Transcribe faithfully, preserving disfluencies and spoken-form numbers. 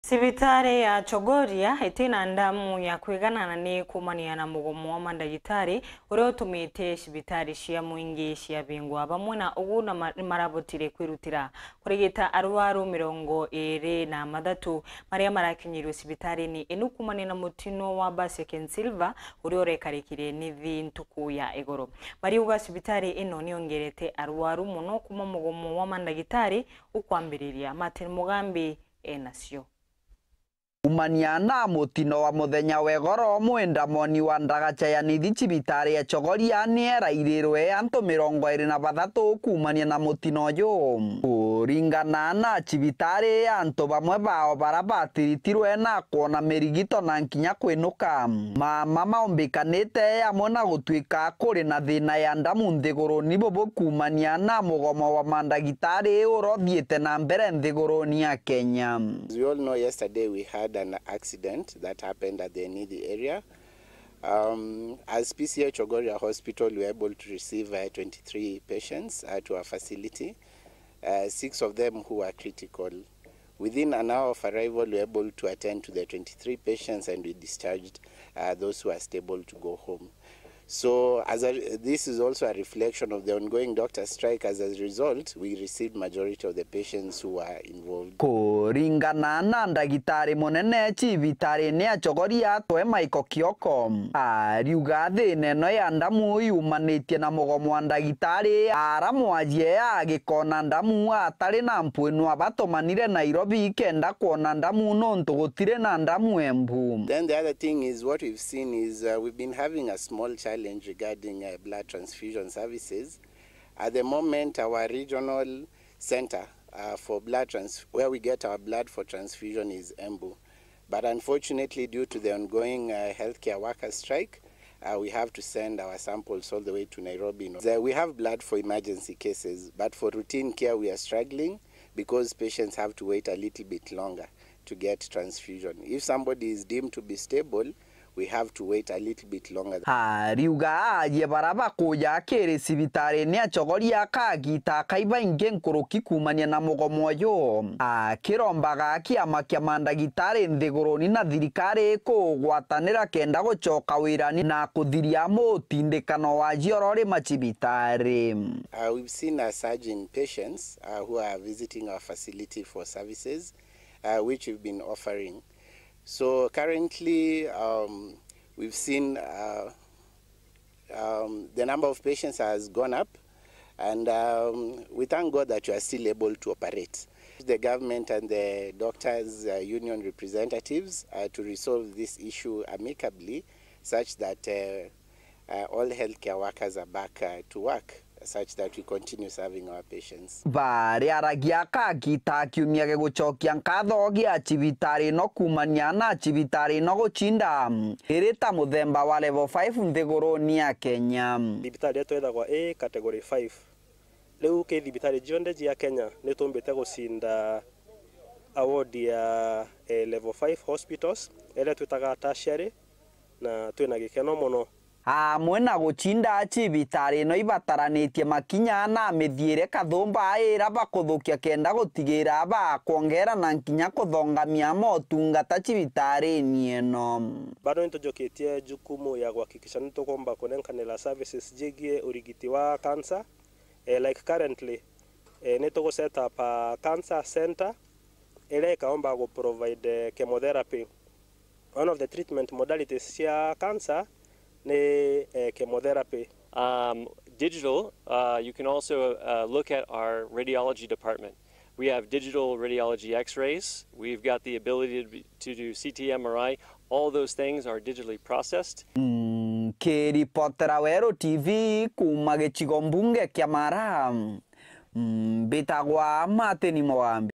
Cibitari ya Chogoria itina ndamu ya kwigana na ni kuumania na mugomo wa mandagitari uria utumite cibitari cia mwingi ciabingwa. Bamwe na ugu na ma-, ni marabotire kwirutira kurigita arwaru mirongo iri na mathatu maria marakinyirwe cibitarini inu kuumania na mutino wa basi ya Ken Silver uria urekarikire nithi ntuku ya igoro. Bariuga cibitari ino niongerete arwaru mono kuuma mugomo wa mandagitari ukwambiriria. Martin Mugambi enacio. Kumania na mutino wa muthenya wa igoro, mwendamoni wa ndagacha ya nithi cibitari ya Chogoria ni erairirwe antu mirongo iri na bathatu kumania na mutino uyu. Kuringana na cibitari, antu bamwe bao bara batiritirwe na kwona mirigito na nkinya kwinuka. Mama maumbikanite amwe na gutwika kuri na thina ya ndamu nthiguruni bubu kumania na mugomo wa mandagitari uria uthiite na mbere nthiguruni ya Kenya. As we all know, yesterday we had an accident that happened at the Nithi area. Um, as P C H Chogoria Hospital, we were able to receive, uh, twenty-three patients, uh, to our facility, uh, six of them who were critical. Within an hour of arrival, we were able to attend to the twenty-three patients and we discharged, uh, those who are stable to go home. So, as a, this is also a reflection of the ongoing doctor strike. As a result, we received majority of the patients who were involved. Kuringana na ndagitari munene cibitari-ini ya Chogoria, twe Michael Kioko, ariuga thina ino ya ndamu yumanitie na mugomo wa ndagitari, ara mwajie agikona ndamu atari na mpwinu abatumanire Nairobi kenda kwona ndamu nontu gutiri na ndamu Embu. Then the other thing is, what we've seen is, uh, we've been having a small challenge regarding, uh, blood transfusion services. At the moment, our regional center, uh, for blood trans-, where we get our blood for transfusion is Embu. But unfortunately, due to the ongoing, uh, healthcare workers strike, uh, we have to send our samples all the way to Nairobi. So we have blood for emergency cases, but for routine care, we are struggling because patients have to wait a little bit longer to get transfusion. If somebody is deemed to be stable, we have to wait a little bit longer. Ariuga aajie bara bakuja akiri cibitari-ini ya Chogoria kagita kai baingi nkuruki kumania na mugomo uyu, akirombaga kiama kia mandagitari nthiguruni na thirikari kugwatanira kenda gucoka wirani na kuthiria mutindikano wa jiorori macibitari. Uh, we've seen a surge in patients, uh, who are visiting our facility for services, uh, which we've been offering. So currently, um, we've seen, uh, um, the number of patients has gone up, and, um, we thank God that we are still able to operate. The government and the doctors, uh, union representatives, uh, to resolve this issue amicably, such that, uh, uh, all healthcare workers are back, uh, to work, such that we continue serving our patients. Bariaragia kagita kiumia gigucokia nkatho gia cibitari ino kumania na cibitari ino gucinda iri ta muthemba wa level five nthiguruni ya Kenya. Thibitari yetu ithagwa i category five. Riu ki thibitari cionthe cia Kenya ni tumbite gucinda award ya, eh, level five hospitals, iria twitaga tertiary, na twina gikeno mono. Amwe na gucinda cibitari ino ibataranitie makinya na mithiire kathumba ira bakuthukia kenda gutigira bakwongera na nkinya kuthongamia motungata cibitari-ini ino. Bado nitujukitie jukumu ya kuhakikisha nitukumba kunenkanira services jigie urigiti wa cancer. Eh, like currently, eh, nitugu set up a cancer center iria ikaomba gu provide, eh, chemotherapy. One of the treatment modalities cia cancer ni, eh, chemotherapy. Um, digital, uh, you can also, uh, look at our radiology department. We have digital radiology x-rays. We've got the ability to, be, to do C T, M R I. All those things are digitally processed. Mm, kiripotera Weru T V kuma gicigo mbunge kia Mara, mm, mbitagwa Martin Mugambi.